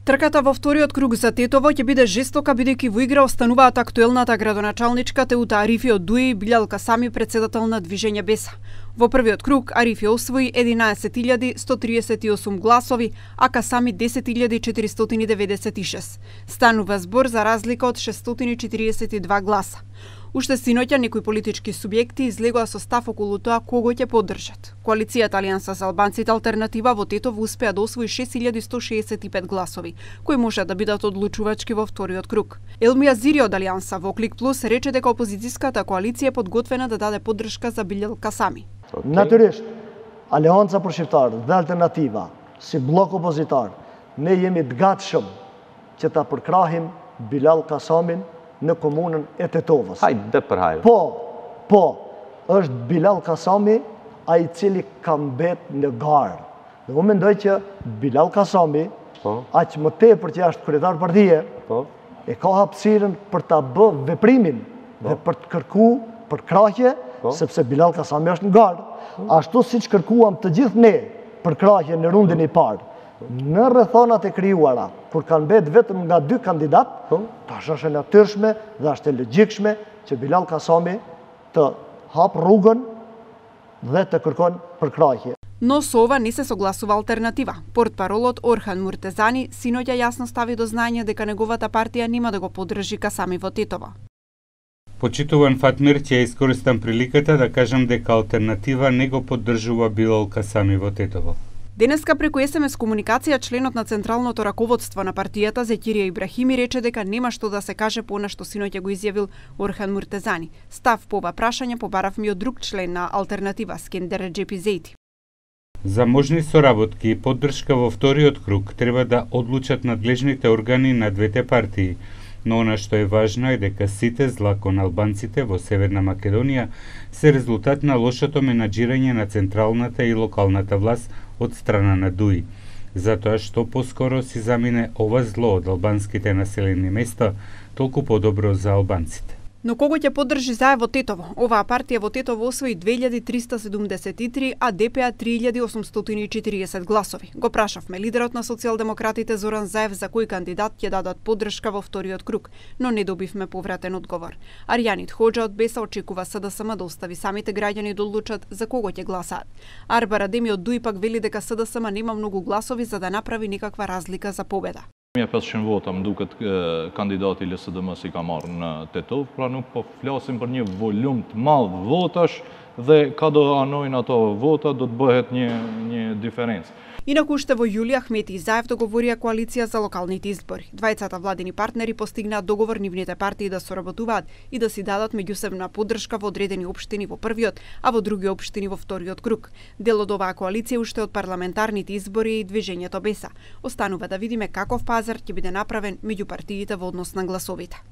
Трката во вториот круг за Тетово ќе биде жестока бидејќи во игра остануваат актуелната градоначалничка Теута Арифи од Дуи и Билјал Касами, председател на Движење Беса. Во првиот круг Арифи освои 11.138 гласови, а Касами 10.496. Станува збор за разлика од 642 гласа. Уште синоќа некои политички субјекти излегоа со став околу тоа кого ќе поддржат. Коалицијата Алијанса за албанците Алтернатива во Тетово успеа да освои 6165 гласови, кои може да бидат одлучувачки во вториот круг. Елми Азири од Алијанса во Клик Плюс рече дека опозицијската коалиција е подготвена да даде поддршка за Билјал Касами. Natyrisht, Aleanca për Shqiptarët dhe Alternativa, si blok opozitar, ne jemi të gatshëm që ta përkrahim Bilal Kasamin në komunën e Tetovës. Hajde për hajde. Po, është Bilal Kasami ai cili ka mbet në garë. Dhe unë mendoj që Bilal Kasami, aq më tepër që është kryetar partie, e ka hapësirën për ta bë veprimin dhe për të kërkuar përkrahje, sepse Bilal Kasami është në garë, ashtu siç kërkuam të gjithë ne përkrahje në rundin e parë. Në rrethonat e krijuara, kur kanë mbet vetëm nga 2 kandidat, tash është e natyrshme dhe është e logjikshme që Bilal Kasami të hap rrugën dhe të kërkon përkrahje. Но со ова не се согласува Алтернатива. Портпаролот Орхан Муртезани синоќа јасно стави до знање дека неговата партија нема да го поддржи Касами во Тетово. Почитуван Фатмир, ќе искористам приликата да кажам дека Алтернатива не го поддржува Билал Касами во Тетово. Денеска преку СМС комуникација членот на централното раководство на партијата Зекирија Ибрахими рече дека нема што да се каже по она што синоќа го изјавил Орхан Муртезани. Став по ова прашање побаравме од друг член на Алтернатива, Скендер Джепизејти. За можни соработки и поддршка во вториот круг треба да одлучат надлежните органи на двете партии, но она што е важно е дека сите зла кон албанците во Северна Македонија се резултат на лошото менаџирање на централната и локалната власт од страна на ДУИ. Затоа што поскоро си замине ова зло од албанските населени места, толку подобро за албанците. Но кого ќе поддржи ЗАЕ во Тетово? Оваа партија во Тетово освои 2373, а ДПА 3840 гласови. Го прашавме лидерот на социјалдемократите Зоран Заев за кој кандидат ќе дадат поддршка во вториот круг, но не добивме повратен одговор. Арјанит Хоџа од Беса очекува СДСМ да остави самите граѓани да одлучат за кого ќе гласаат. Арбар Адеми од ДУИ пак вели дека СДСМ нема многу гласови за да направи некаква разлика за победа. 500 vota më duket kandidati i LSDM-s i ka marrë në Tetov, pra nuk po flasim për një volum të madh votash dhe ka do anojnë ato vota do të bëhet një diferencë. Инаку уште во јули Ахмети и Заев договорија коалиција за локалните избори. Двајцата владени партнери постигнаат договор нивните партии да соработуваат и да си дадат меѓусебна поддршка во одредени општини во првиот, а во други општини во вториот круг. Дел од оваа коалиција уште од парламентарните избори и Движењето Беса. Останува да видиме каков пазар ќе биде направен меѓу партиите во однос на гласовите.